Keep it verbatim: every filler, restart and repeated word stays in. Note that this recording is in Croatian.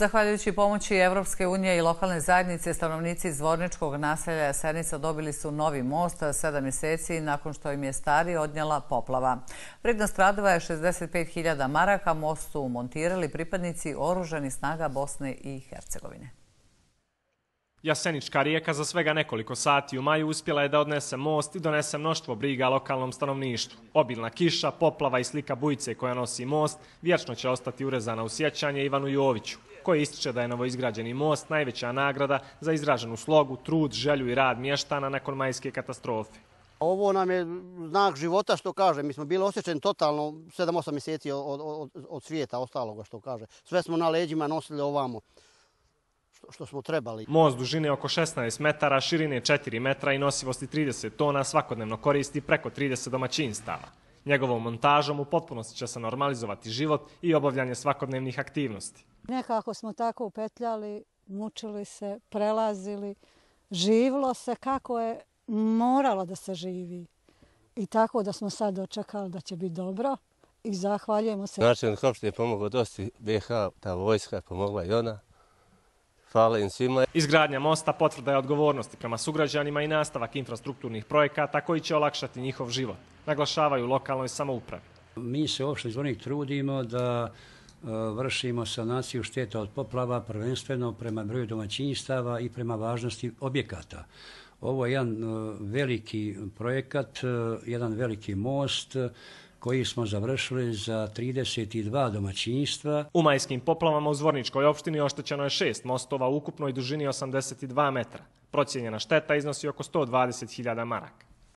Zahvaljujući pomoći Evropske unije i lokalne zajednice, stanovnici iz Zvorničkog naselja Jasenica dobili su novi most sedam mjeseci nakon što im je stari odnijela poplava. Vrednost radova je šezdeset pet hiljada maraka, most su montirali pripadnici oružanih snaga Bosne i Hercegovine. Jasenička rijeka za svega nekoliko sati u maju uspjela je da odnese most i donese mnoštvo briga lokalnom stanovništvu. Obilna kiša, poplava i slika bujice koja nosi most vječno će ostati urezana u sjećanje Ivanu Joviću, koji ističe da je novoizgrađeni most najveća nagrada za izraženu slogu, trud, želju i rad mještana nakon majske katastrofe. Ovo nam je znak života, što kaže. Mi smo bili osjećeni totalno sedam osam mjeseci od, od, od svijeta ostaloga, što kaže. Sve smo na leđima nosili ovamo što smo trebali. Most dužine oko šesnaest metara, širine četiri metra i nosivosti trideset tona svakodnevno koristi preko trideset domaćinstava. Njegovom montažom u potpunosti će se normalizovati život i obavljanje svakodnevnih aktivnosti. Nekako smo tako upetljali, mučili se, prelazili, živilo se kako je moralo da se živi. I tako da smo sad očekali da će biti dobro i zahvaljujemo se. Načelnik opštine je pomogao dosta, B H, ta vojska je pomogla i ona. Hvala im svima. Izgradnja mosta potvrda je odgovornosti prema sugrađanima i nastavak infrastrukturnih projekata koji će olakšati njihov život, naglašavaju lokalnoj samoupravi. Mi se u opštini Zvornik trudimo da vršimo sanaciju šteta od poplava prvenstveno prema broju domaćinstava i prema važnosti objekata. Ovo je jedan veliki projekat, jedan veliki most koji smo završili za trideset dva domaćinstva. U majskim poplavama u Zvorničkoj opštini oštećeno je šest mostova u ukupnoj dužini osamdeset dva metra. Procijenjena šteta iznosi oko sto dvadeset hiljada maraka.